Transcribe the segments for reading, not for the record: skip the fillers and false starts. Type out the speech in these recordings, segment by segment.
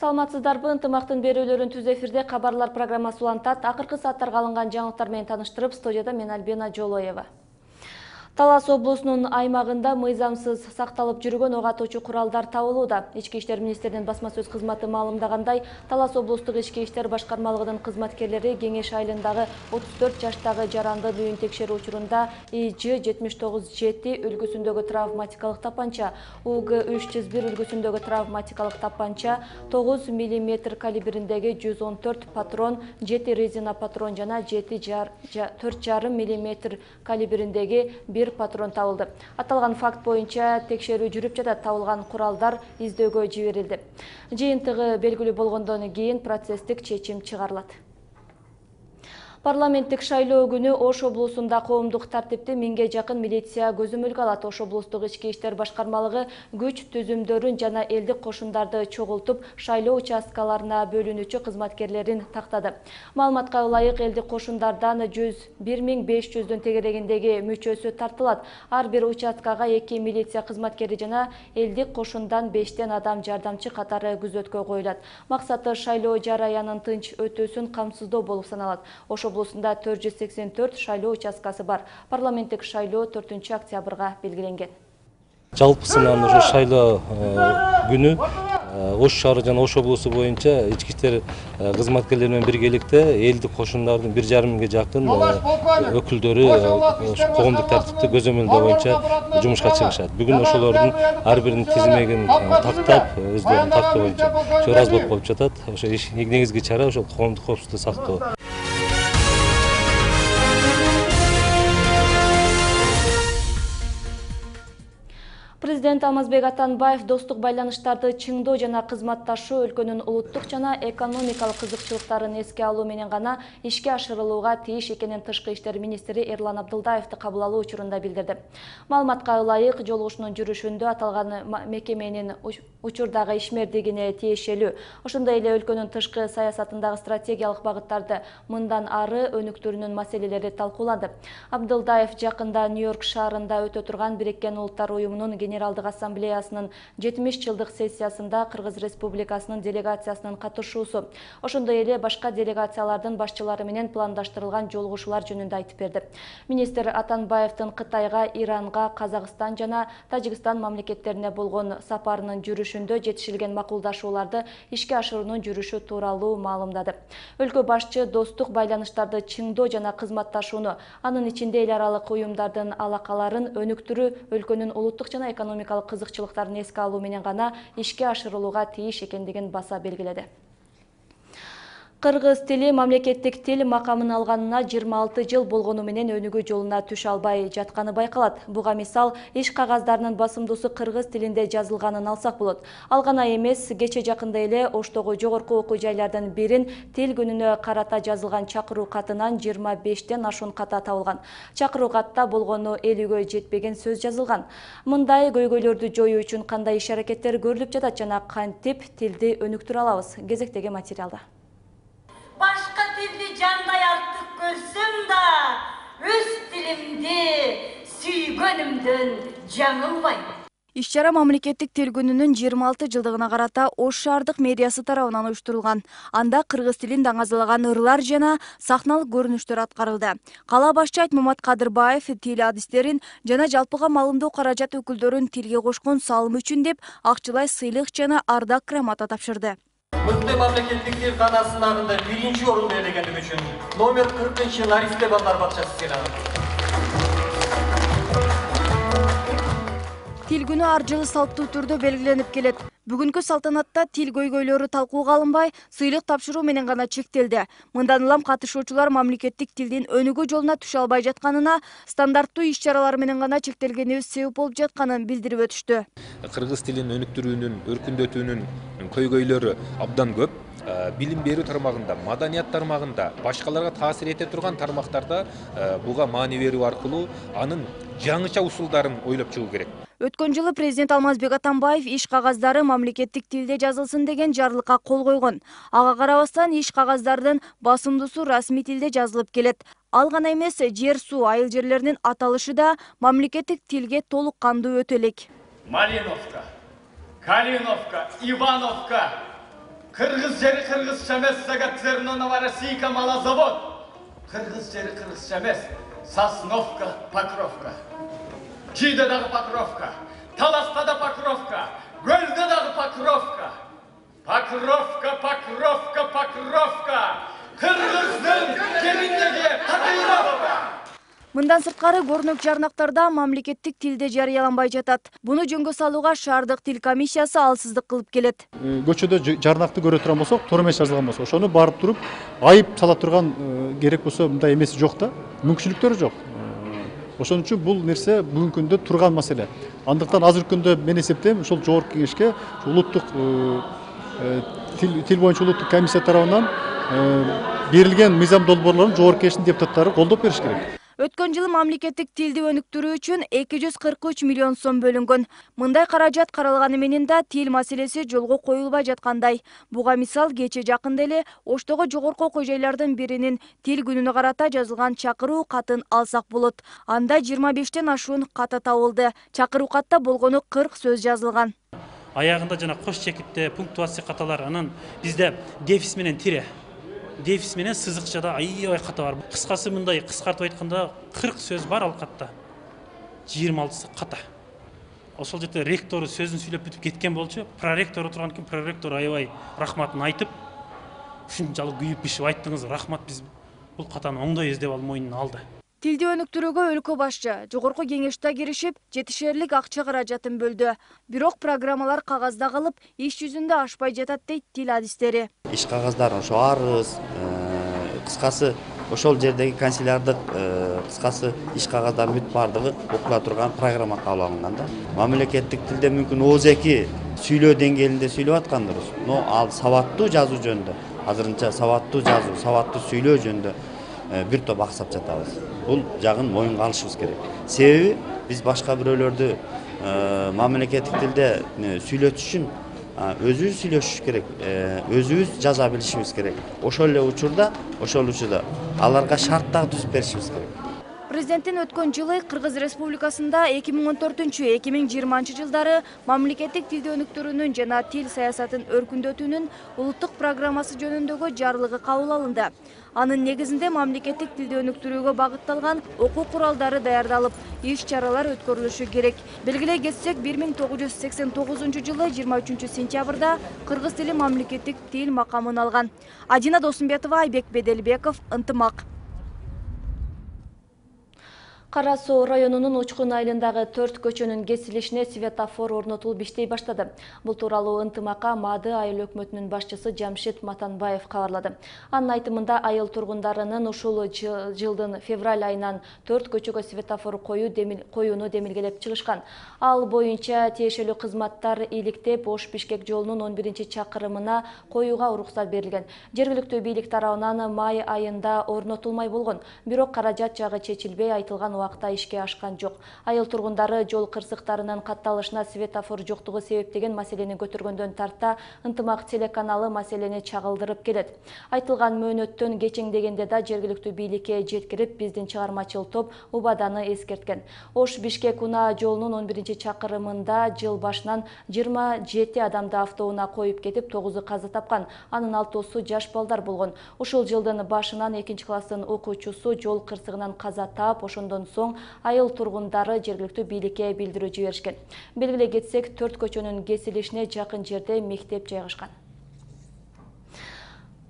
Саламатсыздарбы, ынтымактын берүүлөрүн түз эфирде кабарлар программасы улантат. Акыркы сааттарга алынган жаңылыктар менен таныштырып, студияда мен Альбина Жолоева. Талас облусунун аймагында мыйзамсыз сакталып жүргөн ок атуучу куралдар табылууда. Ички иштер министринин басма сөз кызматы маалымдагандай, Талас облустук ички иштер башкармалыгынын кызматкерлери Кеңеш айылындагы 34 жаштагы жарандын үйүн текшерүү учурунда ИЖ-79-7 үлгүсүндөгү травматикалык тапанча, УГ-301 үлгүсүндөгү травматикалык тапанча, 9 мм калибриндеги 114 патрон, 7 резина патрон жана 4,5 мм калибриндеги 1 патрон табылды. Аталган факт боюнча текшерүү жүрүп жатат. Табылган куралдар издөөгө жиберилди. Жыйынтыгы белгилүү болгондон кийин процесстик чечим чыгарылат. Парламенттик шайлоо күнү Ош облусунда коомдук тартипти 1000ге жакын милиция көзөмөлгө алат. Ош облустук ички иштер башкармалыгы күч түзүмдөрүн жана элдик кошундарды чогултуп, шайлоо участкаларына бөлүнүүчү кызматкерлерин тактады. Маалыматка ылайык, элдик кошундардан 1500-дүн тегерегиндеги мүчөсү тартылат. Ар бир участкага 2 милиция кызматкери жана элдик кошундан 5тен адам жардамчы катары күзөткө коюлат. Максаты шайлоо жараянын тынч өтүүсүн камсыздоо болуп саналат. Ош облусунда 484 шайлоо участкасы бар. Парламенттик шайлоо 4-октябрга белгиленген. Жалпысынан ошо шайлоо күнү Ош шаары жана Ош облусу боюнча ички иштер кызматкерлери менен биргеликте элдик кошундардын 1,5 жакын өкүлдөрү коомдук тартипти көзөмөлдөө боюнча жумушка чыгышат. Бүгүн ошолордун ар биринин тизмегин тактап, өздөрүнүн тактоо боюнча ошо разбор болуп жатат. Ошо негизги чара ошол коомдук коопсуздукту сактоо. Президент Алмазбек Атамбаев достук байланыштарды чыңдоо жана кызматташуу өлкөнүн улуттук жана экономикалык кызыкчылыктарын эске алуу менен гана ишке ашырылууга тийиш экенин Тышкы иштер министри Эрлан Абдылдаевди кабыл алуу учурунда билдирди. Маалыматка ылайык, жолугушуунун жүрүшүндө аталган мекеменин учурдагы ишмердигине тиешелүү, ошондой эле өлкөнүн тышкы саясатындагы стратегиялык багыттарды мындан ары өнүктүрүүнүн маселелери талкууланды. Абдылдаев жакында Нью-Йорк шаарында өтө турган Бириккен Улуттар уюмунун Генералдык ассамблеясынын 70-жылдык сессиясында Кыргыз Республикасынын делегациясынын катышуусу, ошондой эле башка делегациялардын башчылары менен пландаштырылган жолугушуулар жөнүндө айтып берди. Министр Атамбаевдин Кытайга, Иранга, Казакстан жана Тажикстан мамлекеттерине болгон сапарынын жүрүшүндө жетишилген макулдашууларды ишке ашыруунун жүрүшү тууралуу маалымдады. Өлкө башчы достук байланыштарды чыңдоо жана кызматташууну, анын ичинде эл аралык уюмдардын алакаларын өнүктүрүү өлкөнүн улуттук жана экономикалык кызыкчылыктарын эске алуу менен гана ишке ашырылууга тийиш экендигин баса белгиледи. Кыргыз тили мамлекеттик тил макамын алганына 26 жыл болгону менен өнүгүү жолуна түшө албай жатканы байкалат. Буга мисал иш кагаздарынын басымдуусу кыргыз тилинде жазылганын алсак болот. Ал гана эмес, кече жакында эле Оштогу жогорку окуу жайлардын бирин тил күнүнө карата жазылган чакыруу катынан 25тен ашуун ката табылган. Чакыруу катта болгону 50гө жетпеген сөз жазылган. Мындай көйгөйлөрдү жоюу үчүн кандай иш-аракеттер көрүлүп жатат жана кантип тилди өнүктүрө алабыз? Кезектеги материалда. Башка тилди жандай артык көрсөм да, өз тилимди сүйгөнүмдөн жаңылбайм. Иш-чара мамлекеттик тил күнүнүн 26 жылдыгына карата Ош шаардык мэриясы тарабынан уюштурулган. Анда кыргыз тилин даңазалаган ырлар жана сахналык көрүнүштөр аткарылды. Кала башчы Айтмамат Кадырбаев тил адистерин жана жалпыга маалымдоо каражат өкүлдөрүн тилге кошкон салымы үчүн деп акчылай сыйлык жана ардак грамота тапшырды. Мыкты мамлекеттик тил кана сынагында 1-орунду ээлегендиги үчүн номер 40 Наристе балдар бакчасы сыйлаган. Тил күнү ар жылы салттуу түрдө белгиленип келет. Бүгүнкү салтанатта тил көйгөйлөрү талкууга алынбай, сыйлык тапшыруу менен гана чектелди. Мындан улам катышуучулар мамлекеттик тилдин өнүгүү жолуна түшө албай жатканына, стандарттуу иш-чаралар менен гана чектелгенибиз себеп болуп жатканын билдирип өтүштү. Кыргыз тилин өнүктүрүүнүн, өркүндөтүүнүн көйгөйлөрү абдан көп. Билим берүү тармагында, маданият тармагында, башкаларга таасир эте турган тармактарда буга маани берүү аркылуу анын жаңыча усулдарын ойлоп чыгуу керек. Өткөн жылы президент Алмазбек Атамбаев иш кагаздары мамлекеттик тилде жазылсын деген жарлыкка кол койгон. Ага карабастан иш кагаздардын басымдуусу расмий тилде жазылып келет. Ал гана эмес, жер, суу, айыл жерлеринин аталышы да мамлекеттик тилге толук кандуу өтө элек. Малиновка, Калиновка, Ивановка. Кыргыз жери кыргызча эмес, Загатцернонова Российка малозавод. Кыргыз жери кыргызча эмес, Сосновка, Покровка. Чийде дагы Покровка, Таласта да Покровка, Көлдө дагы Покровка. Покровка, Покровка, Покровка. Кыргыздын келиндеги Татыйровка. Мындан сырткары көрнөк жарнактарда мамлекеттик тилде жарыяланбай жатат. Буну жөнгө салууга шаардык тил комиссиясы алсыздык кылып келет. Көчөдө жарнакты көрө турган болсок, туура эмес жазылган болсо, ошону барып туруп айып сала турган керек болсо мындай эмеси жок да, мүмкүнчүлүктөрү жок. Ошон үчүн бул нерсе бүгүнкү күндө турган маселе. Андыктан азыркы күндө мен эсептейм, ушул жогорку кеңешке улуттук тил боюнча улуттук комиссия тарабынан берилген мыйзам долбоорлорун жогорку кеңештин депутаттары колдоп бериш керек. Өткөн жылы мамлекеттик тилди өнүктүрүү үчүн 243 миллион сом бөлүнгөн. Мындай каражат каралганы менен да тил маселеси жолго коюлбай жаткандай. Буга мисал кече жакында эле Оштогу жогорку окуу жайлардын биринин тил күнүнө карата жазылган чакыруу катын алсак болот. Анда 25тен ашуун ката табылды. Чакыруу катта болгону 40 сөз жазылган. Аягында жана кош чекитте пунктуация каталар, анан бизде дефис менен тире. Дефис менен сызыкчада аябай ката бар. Кыскасы мындай кыскартып айтканда 40 сөз бар ал катта. 26сы ката. Ошол жерде ректору сөзүн сүйлөп бүтүп кеткен болчу. Проректор отурган экен, проректор аябай рахматын айтып, ушунчалык күйүп бишип айттыңыз, рахмат, биз бул катаны оңдойбуз деп ал мойнуна алды. Тилди өнүктүрүүгө өлкө башчы жогорку кеңеште киришип, жетишерлик акча каражатын бөлдү. Бирок программалар кагазда калып, иш жүзүндө ашпай жатат дейт тил адистери. Иш кагаздарын ошо арыз, кыскасы ошол жердеги канцелярдык кыскасы иш кагаздарын бүт бардыгы окула турган программа кабыл алынган да. Мамлекеттик тилде мүмкүн ооз-2 сүйлөө деңгээлинде сүйлөп аткандырбыз. Но ал сабаттуу жазуу жөнүндө, азырынча сабаттуу жазуу, сабаттуу сүйлөө жөнүндө бир топ аксап жатабыз. Бул жагын моюнга алышыбыз керек. Себеби биз башка бирөөлөрдү мамлекеттик тилде сүйлөтүш үчүн өзүбүз сүйлөшүш керек, өзүбүз жаза билишибиз керек. Ошол эле учурда аларга шарттар түзүп беришибиз керек. Президенттин өткөн жылы Кыргыз Республикасында 2014-2020 жылдары мамлекеттик тилди өнүктүрүүнүн жана тил саясатын өркүндөтүүнүн улуттук программасы жөнүндөгү жарлыгы кабыл алынды. Анын негизинде мамлекеттик тилди өнүктүрүүгө багытталган окуу куралдары даярдалып, иш-чаралар өткөрүлүшү керек. Белгилей кетсек, 1989 жылы 23 сентябрда кыргыз тили мамлекеттик тил макамын алган. Адина Досумбетова, Айбек Беделбеков, Ынтымак. Кара Суу районунун Учкун айылындагы 4 көчөнүн кесилишине светофор орнотулуп иштей баштады. Бул тууралуу Ынтымакка Маады айыл өкмөтүнүн башчысы Жамшит Матанбаев кабарлады. Анын айтымында айыл тургундарынын ушул жылдын февраль айынан 4 көчөгө светофор коюуну демилгелеп чыгышкан. Ал боюнча тиешелүү кызматтар иликтеп, Ош-Бишкек жолунун 11-чакырымына коюуга уруксат берилген. Жергиликтүү бийлик тарабынан май айында орнотулмай болгон, бирок каражат жагы чечилбей айтылган убакта ишке ашкан жок. Айыл тургундары жол кырсыктарынын катталышына светофор жоктугу себептеген маселени көтөргөндөн тарта Ынтымак телеканалы маселени чагылдырып келет. Айтылган мөөнөттөн кечеңдегенде да жергиликтүү бийликке жеткирип, биздин чыгармачыл топ убаданы эскерткен. Ош-Бишкек унаа жолунун 11-чакырымында жыл башынан 27 адамды автоунаа коюп кетип, 9-у каза тапкан. Анын 6-су жаш балдар болгон. Ушул жылдын башынан 2-класстын окуучусу жол кырсыгынан каза таап, ошондон соң айыл тургундары жергиликтүү бийликке билдирүү жиберишкен. Белгилей кетсек, 4 көчөнүн кесилишине жакын жерде мектеп жайгашкан.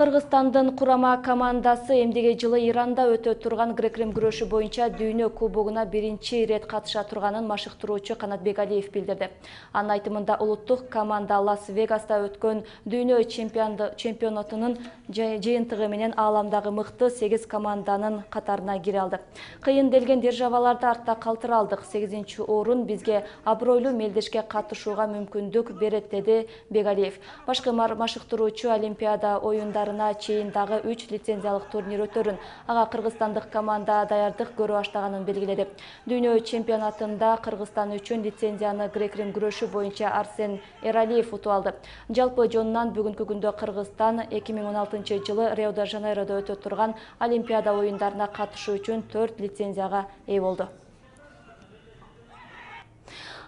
Кыргызстандын курама командасы эмдиги жылы Иранда өтө турган грек-рим күрөшү боюнча дүйнө кубогуна биринчи ирет катыша турганын машыктыруучу Канат Бегалиев билдирди. Анын айтымында улуттук команда Лас-Вегаста өткөн дүйнө чемпионатынын жыйынтыгы менен ааламдагы мыкты 8 команданын катарына кире алды. Кыйын делген державаларды артта калтыра алдык. 8-орун бизге абройлуу мелдешке катышууга мүмкүндүк берет, деди Бегалиев. Башкы машыктыруучу Олимпиада оюндары чейин дагы 3 лицензиялык турнир өтөрүн, ага кыргызстандык команда даярдык көрө баштаганын белгиледи. Дүйнө чемпионатында Кыргызстан үчүн лицензияны грек-рим күрөшү боюнча Арсен Эралиев утуп алды. Жалпы жонунан бүгүнкү күндө Кыргызстан 2016 жылы Рио-де-Жанейродо өтө турган Олимпиада оюндарына катышуу үчүн 4 лицензияга ээ болду.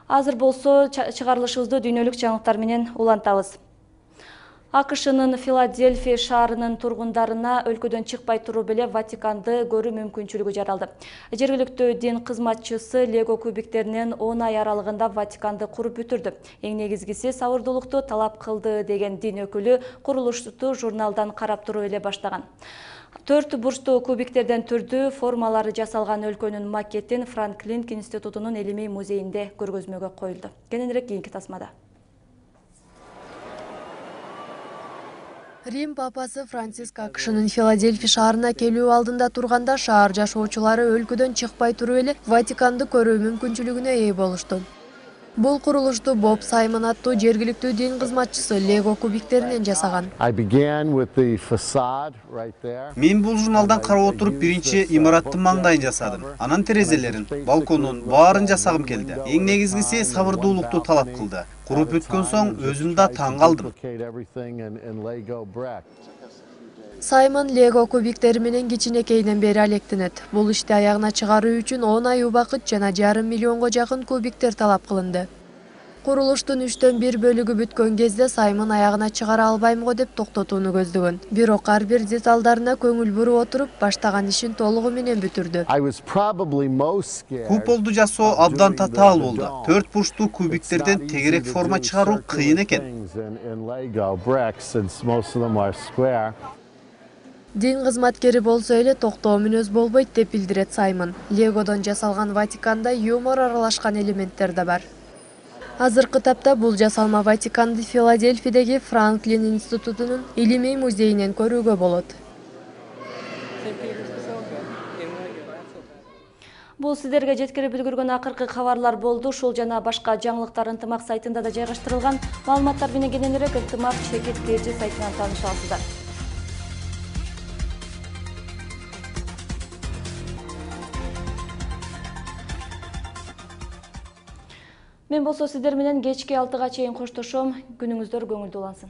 Азыр болсо чыгарылышыбызды дүйнөлүк жаңылыктар менен улантабыз. АКШнын Филадельфия шаарынын тургундарына өлкөдөн чыкпай туруп эле Ватиканды көрүү мүмкүнчүлүгү жаралды. Жергиликтүү дин кызматчысы Лего кубиктеринен 10 ай аралыгында Ватиканды куруп бүтүрдү. Эң негизгиси сабырдуулукту талап кылды деген дин өкүлү курулушту журналдан карап туруп эле баштаган. 4 бурчтуу кубиктерден түрдүү формалары жасалган өлкөнүн макетин Франклин институтунун илимий музейинде көргөзмөгө коюлду. Кененирээк кийинки тасмада. Рим папасы Франциск АКШнын Филадельфия шаарына келүү алдында турганда шаар жашоочулары өлкөдөн чыкпай туруп эле Ватиканды көрүү мүмкүнчүлүгүнө ээ болушту. Бул курулушту Боб Саймон аттуу жергиликтүү дин кызматчысы Лего кубиктеринен жасаган. Мен бул журналдан карап отуруп биринчи имараттын маңдайын жасадым. Анан терезелерин, балконун баарын жасагым келди. Эң негизгиси сабырдуулукту талап кылды. Куруп бүткөн соң өзүм да таң калдым. Саймон Лего кубиктери менен кичинекейинен бери алектенет. Бул ишти аягына чыгаруу үчүн 10 ай убакыт жана 1,5 миллионго жакын кубиктер талап кылынды. Курулуштун 3/4 бөлүгү бүткөн кезде Саймон аягына чыгара албайм го деп токтотууну көздөгөн. Бирок ар бир деталдарына көңүл буруп отуруп, баштаган ишин толугу менен бүтүрдү. Куполду жасоо абдан татаал болду. 4 бурчтуу кубиктерден тегерек форма чыгаруу кыйын экен. Дин кызматкери болсо эле токтоо мүнөз болбойт деп билдирет Саймон. Легодон жасалган Ватиканда юмор аралашкан элементтер да бар. Азыркы тапта бул жасалма Ватиканды Филадельфиядеги Франклин институтунун илимий музейинен көрүүгө болот. Бул сиздерге жеткирип үлгүргөн акыркы кабарлар болду. Ушул жана башка жаңылыктар Ынтымак сайтында да жайгаштырылган. Маалыматтар менен кененирээк Ынтымак Чекит ТЖ сайтынан тааныша аласыздар. Мен болсо сиздер менен кечки 6-га чейин коштошом. Күнүңүздөр көңүлдүү улансын.